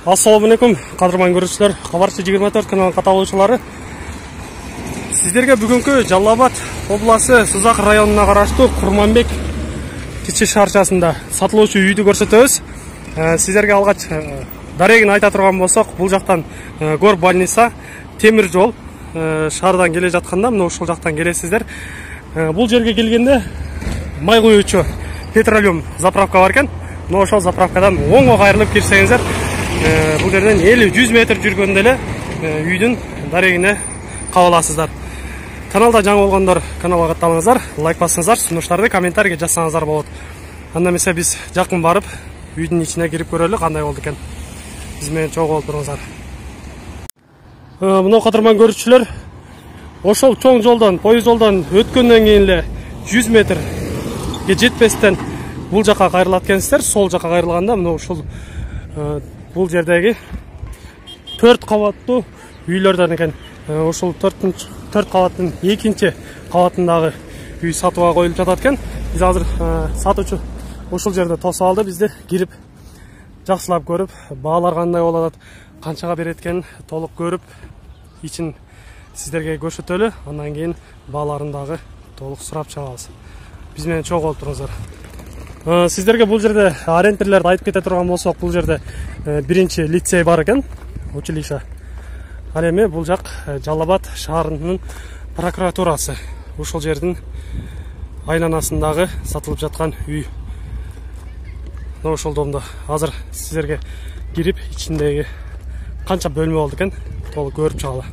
Ассаламу алейкум, кадырман көрүүчүлөр, Кабарчы 24 каналынын каталоочулары. Сиздерге бүгүнкү Жалал Абад областы Сызак районуна караштуу Курманбек кичи шаарчасында сатылуучу үйдү көрсөтөбүз. Сиздерге алгач дарегин айта турган болсок, бул жактан гор больница, темир жол шаардан келе жатканда мына ушул жактан келесиздер. Бул жерге келгенде май куюучу петролиум заправка бар экен. Но ошол заправкадан оңго кайрылып кирсеңиздер, бул жерден 50-100 метр жүргөндө эле үйдүн дарегине кабыласыздар. Каналда жаңы болгондор каналга катталыңыздар, лайк басыңыздар, сунуштарды комментарийге жазсаңыздар болот. Анда эмесе биз жакын барып үйдүн ичине кирип көрөлү, кандай болду экен. Биз менен чогуу болуп туруңуздар. Мына кадырман көрүүчүлөр, ошол чоң жолдон, поезд жолдон өткөндөн кийин эле 100 метрге жетпестен бул жака кайрылат экенсиздер. Сол жака кайрылганда мына ушул бул жердеги 4 кабаттуу үйлөрдөн экен. Ошол 4 кабаттын 2-нчи кабатындагы үй сатууга коюлуп жатат экен. Биз азыр сатуучу ушул жерде тосуп алды, бизди кирип жакшылап көрүп, баалар кандай болот, канчага берет экенин толук көрүп, ичин сиздерге көрсөтөлү. Андан кийин бааларын дагы толук сурап чыгабыз. Биз менен чогуу болуп туруңуздар. Сиздерге бул жерде ориентирлерди айтып кете турган болсок, бул жерде 1-чи лицей бар экен, училище. Ал эми бул жак Жалал Абад шаарынын прокуратурасы. Ушул жердин айланасындагы сатылып жаткан үй. Мына ошол домдо азыр сиздерге кирип, ичиндеги канча бөлмө болду экен толук көрүп чыгалы.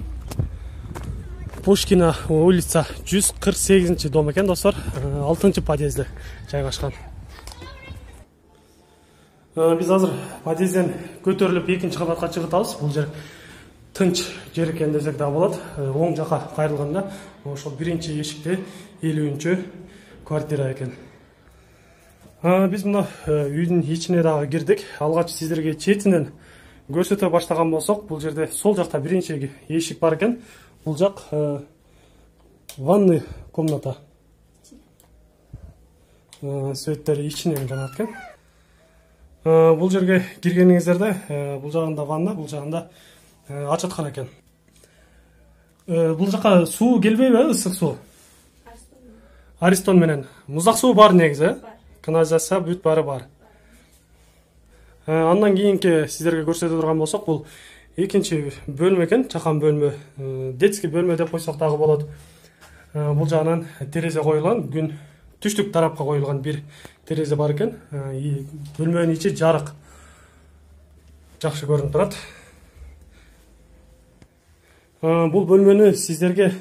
Пушкина улица 148-чи дом экен, достор, 6-чы подъезде жайгашкан. Биз азыр подъезден көтөрүлүп 2-нчи кабатка чыгып атабыз. Бул жер тынч жер экен десек да болот. Оң жака кайрылганда ошол 1-чи эшикте 50-чү квартира экен. Биз мына үйдүн ичине дагы кирдик. Алгач сиздерге четинен көрсөтө баштаган болсок, бул жерде сол жакта 1-чи эшик бар экен. Бул жак ванный комната. Светтери ичинен жанат экен. Бул жерге киргениңиздерде бул жагында ванна, бул жагында ачаткана экен. Бул жака суу келбейби, ысык суу? Аристон менен. Муздак суу бар негизи, канализация бүт баары бар. Андан кийинки сиздерге көрсөтө турган болсок, бул 2-нчи бөлмө экен, чакан бөлмө. Детский бөлмө деп койсок дагы болот. Бул жагынан терезе коюлган, күн түштүк тарапка коюлган бир терезе бар экен. Бөлмөнүн ичи жарык. Жакшы көрүнүп турат. Бул бөлмөнү сиздерге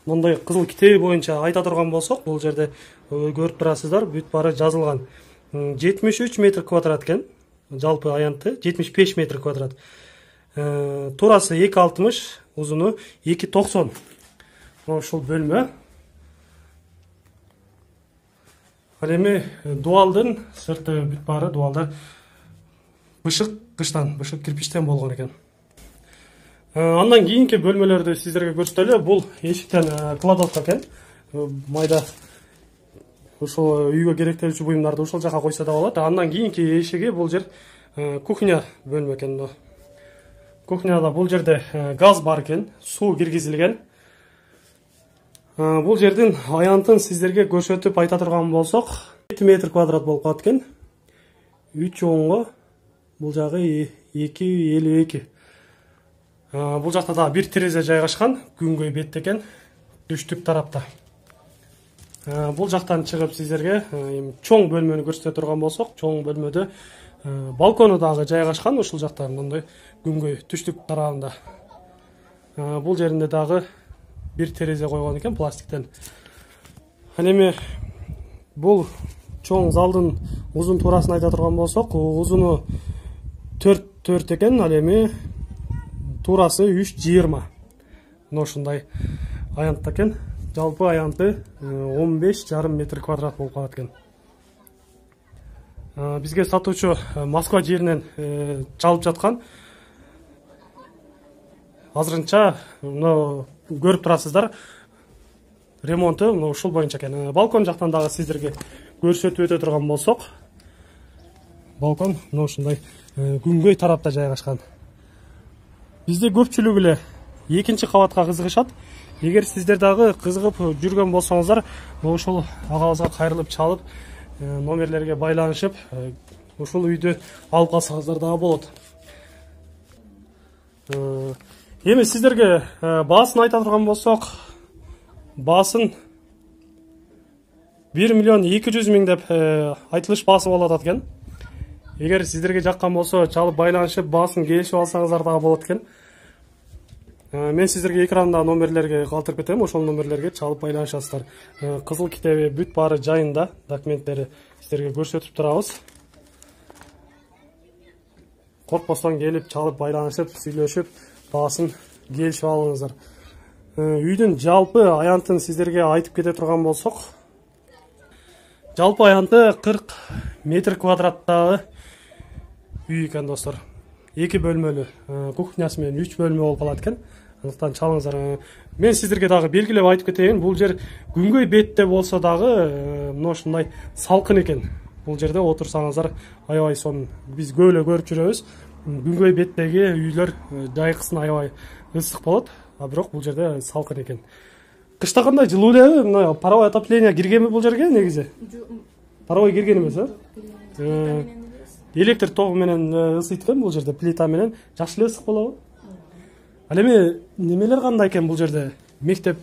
мындай кызыл китеби боюнча айта турган болсок, бул жерде көрүп турасыздар, бүт баары жазылган. 73 метр квадрат экен. Жалпы аянты 75 метр квадрат. Турасы 2,60, узуну 2,90. Ошол бөлмө. Ал эми дуалдын сырты бүт баары дуалда бышык кыштан, бышык кирпичтен болгон экен. Андан кийинки бөлмөлөрдү сиздерге көрсөтөлү. Бул эшиктен кладовка экен. Майда ошол үйгө керектелүүчү буюмдарды ошол жака койсо да болот. Андан кийинки эшиги бул жер кухня бөлмө экен. Кухняда бул жерде газ бар экен, суу киргизилген. Бул жердин аянтын сиздерге көрсөтүп айта турган болсок, 7 метр квадрат болуп калат экен. 3 оңго, бул жагы 2,52. Бул жакта да бир терезе жайгашкан, күнгөй бет экен, түштүк тарапта. Бул жактан чыгып сиздерге чоң бөлмөнү көрсөтө турган болсок, чоң бөлмөдө балкону дагы жайгашкан, ушул жакта мындай күнгөй түштүк тарабында. Бул жеринде дагы бир терезе койгон экен пластиктен. Ал эми бул чоң залдын узун турасын айта турган болсок, узуну 4 экен, ал эми турасы 3,20. Мына ушундай аянтта экен. Жалпы аянты 15,5 метр квадрат болуп калат экен. Бизге сатуучу Москва жеринен чалып жаткан. Азырынча мына көрүп турасыздар, ремонту мына ушул боюнча экен. Балкон жактан дагы сиздерге көрсөтүп өтө турган болсок, балкон мына ушундай күнгөй тарапта жайгашкан. Бизде көпчүлүк эле экинчи кабатка кызыгышат. Эгер сиздер дагы кызыгып жүргөн болсоңуздар, ошол агабызга кайрылып чалып, номерлерге байланышып, ушул үйдү алып калсаңыздар дагы болот. Эми сиздерге баасын айта турган болсок, баасын 1.200.000 деп айтылыш баасы болот экен. Эгер сиздерге жаккан болсо, чалып байланышып, баасын келишип алсаңыздар дагы болот экен. Мен сиздерге экранда номерлерге калтырып кетем, ошол номерлерге чалып байланышасыздар. Кызыл китеби бүт баары жайында, документтери сиздерге көрсөтүп турабыз. Коркпостон келип, чалып байланышып, сүйлөшүп, баасын келишип алыңыздар. Үйдүн жалпы аянтын сиздерге айтып кете турган болсок, жалпы аянты 40 метр квадраттагы үй экен достор. 2 бөлмөлүү, кухнясы менен 3 бөлмө болуп калат экен. Андыктан чалыңыздар. Мен сиздерге дагы белгилеп айтып кетейин, бул жер күнгөй бетте болсо дагы мына ушундай салкын экен. Бул жерде отурсаңыздар аябай сонун. Биз көп эле көрүп жүрөбүз. Күнгөй беттеги үйлөр жайкысын аябай ысык болот, а бирок бул жерде салкын экен. Кышта кандай жылуу элеби? Мына паровой отопление киргенби бул жерге негизи? Паровой кирген эмес, электр тогу менен ысыйт экен бул жерде, плита менен. Жакшы эле ысык болобу? Ал эми немелер кандай экен бул жерде? Мектеп,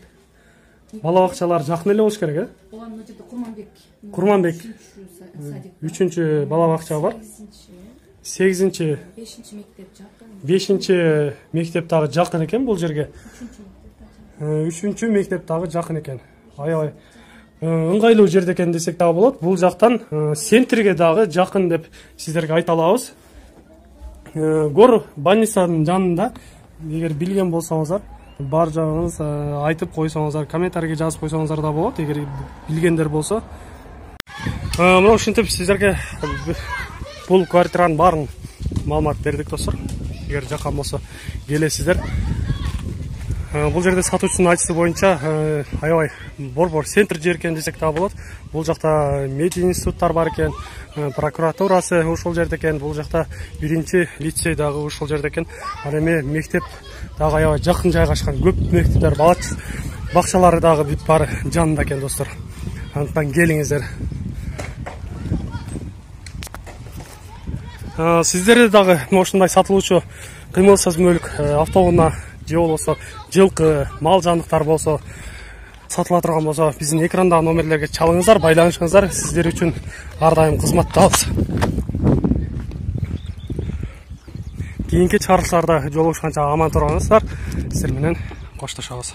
бала бакчалар жакын эле болуш керек, Ооба, мына жерде Курманбек 3-чү бала бакча бар. 8-5 мектеп дагы жакын экен бул жерге. 3-чү мектеп дагы жакын экен. Аябай ыңгайлуу жерде экен десек дагы болот. Бул жактан центрге дагы жакын деп сиздерге айта алабыз. Гор больницанын жанында, эгер билген болсоңуздар, бар жагыңыз айтып койсоңуздар, комментарийге жазып койсоңуздар да болот, эгер билгендер болсо. Мына ушинтип сиздерге бул квартиранын баарын маалымат бердик достор. Эгер жаккан болсо келесиздер. Бул жерде сатуучунун айтышы боюнча аябай борбор центр жер экен десек дагы болот. Бул жакта мединституттар бар экен, прокуратурасы ушул жерде экен, бул жакта 1-чи лицей дагы ушул жерде экен. Ал эми мектеп дагы аябай жакын жайгашкан, көп мектептер, бала бакчалары дагы бүт баары жанында экен достор. Андыктан келиңиздер. Сиздерде дагы ушундай сатылуучу кыймылсыз мүлк, автоунаа же болбосо жылкы, мал жандыктар болсо сатыла турган болсо, биздин экрандагы номерлерге чалыңыздар, байланышыңыздар. Сиздер үчүн ар дайым кызматтабыз. Кийинки чыгарылыштарда жолугушканча аман туруңуздар. Сиздер менен коштошобуз.